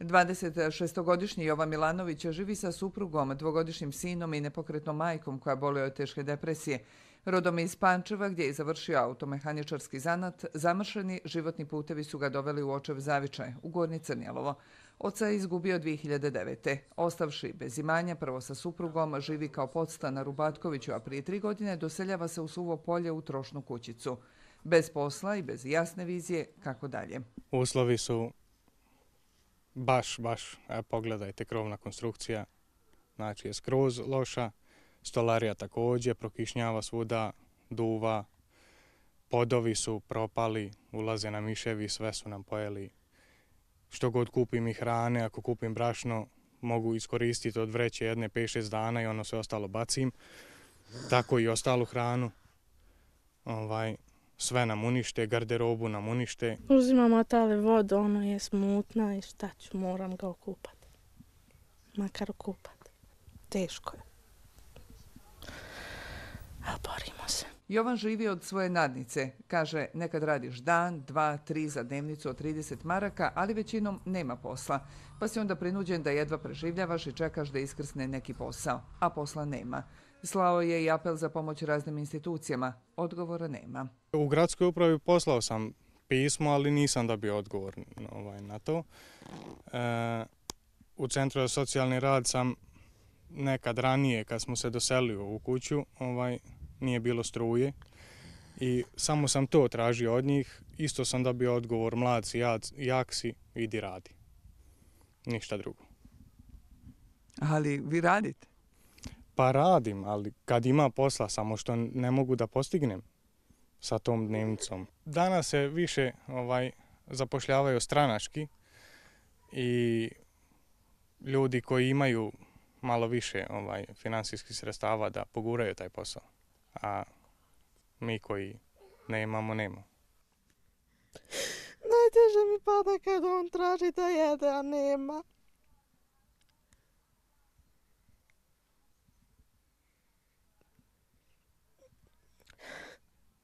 26-godišnji Jovan Milanović živi sa suprugom, dvogodišnjim sinom i nepokretnom majkom koja boluje od teške depresije. Rodom je iz Pančeva gdje je završio automehaničarski zanat, zamršeni životni putevi su ga doveli u očev zavičaj, u Gornje Crnjelovo. Oca je izgubio 2009. Ostavši bez imanja, prvo sa suprugom, živi kao podstanar u Batkoviću, a prije 3 godine doseljava se u Suvo Polje u trošnu kućicu. Bez posla i bez jasne vizije kako dalje. Uslovi su baš, pogledajte, krovna konstrukcija, znači je skroz loša, stolarija također, prokišnjava svuda, duva, podovi su propali, ulaze na miševi, sve su nam pojeli. Što god kupim i hrane, ako kupim brašno, mogu iskoristiti od vreće jedne 5-6 dana i ono sve ostalo bacim. Tako i ostalu hranu. Sve nam unište, garderobu nam unište. Uzimam otale vodu, ono je smutna i šta ću, moram ga okupati. Makar okupati. Teško je. A borimo se. Jovan živi od svoje nadnice. Kaže, nekad radiš dan, 2, 3 za dnevnicu od 30 maraka, ali većinom nema posla. Pa si onda prinuđen da jedva preživljavaš i čekaš da iskrsne neki posao. A posla nema. Slao je i apel za pomoć raznim institucijama. Odgovora nema. U gradskoj upravi poslao sam pismo, ali nisam dobio odgovor na to. U Centru za socijalni rad sam nekad ranije, kad smo se doselili u kuću, nije bilo struje i samo sam to tražio od njih. Isto sam dobio odgovor, mlad si, jak si, idi radi. Ništa drugo. Ali vi radite? Pa radim, ali kad ima posla, samo što ne mogu da postignem sa tom dnevnicom. Danas se više zapošljavaju stranački i ljudi koji imaju malo više financijskih sredstava da poguraju taj posao, a mi koji nemamo. Najteže mi pada kad on traži da jede, a nema.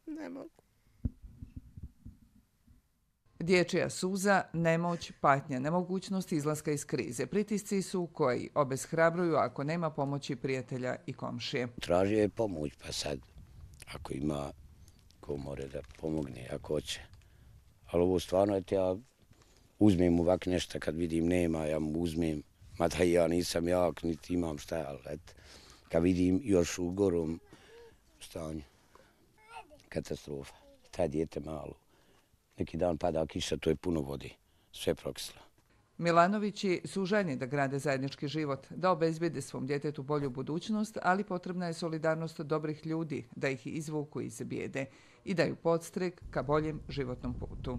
Ne mogu. Dječja suza, nemoć, patnja, nemogućnost izlaska iz krize. Pritisci su koji obeshrabruju ako nema pomoći prijatelja i komšije. Tražio je pomoć, pa sad, ako ima ko more da pomogne, ako hoće. Ali ovo stvarno, ja uzmem ovak nešto kad vidim nema, ja mu uzmem. Mada ja nisam jak, niti imam šta, ali kad vidim još u gorom stanju, katastrofa. Taj dijete malo. Neki dan pada kiša, to je puno vode, sve prokislo. Milanovići su željni da grade zajednički život, da obezbijede svom djetetu bolju budućnost, ali potrebna je solidarnost dobrih ljudi, da ih izvuku iz bijede i daju podstrek ka boljem životnom putu.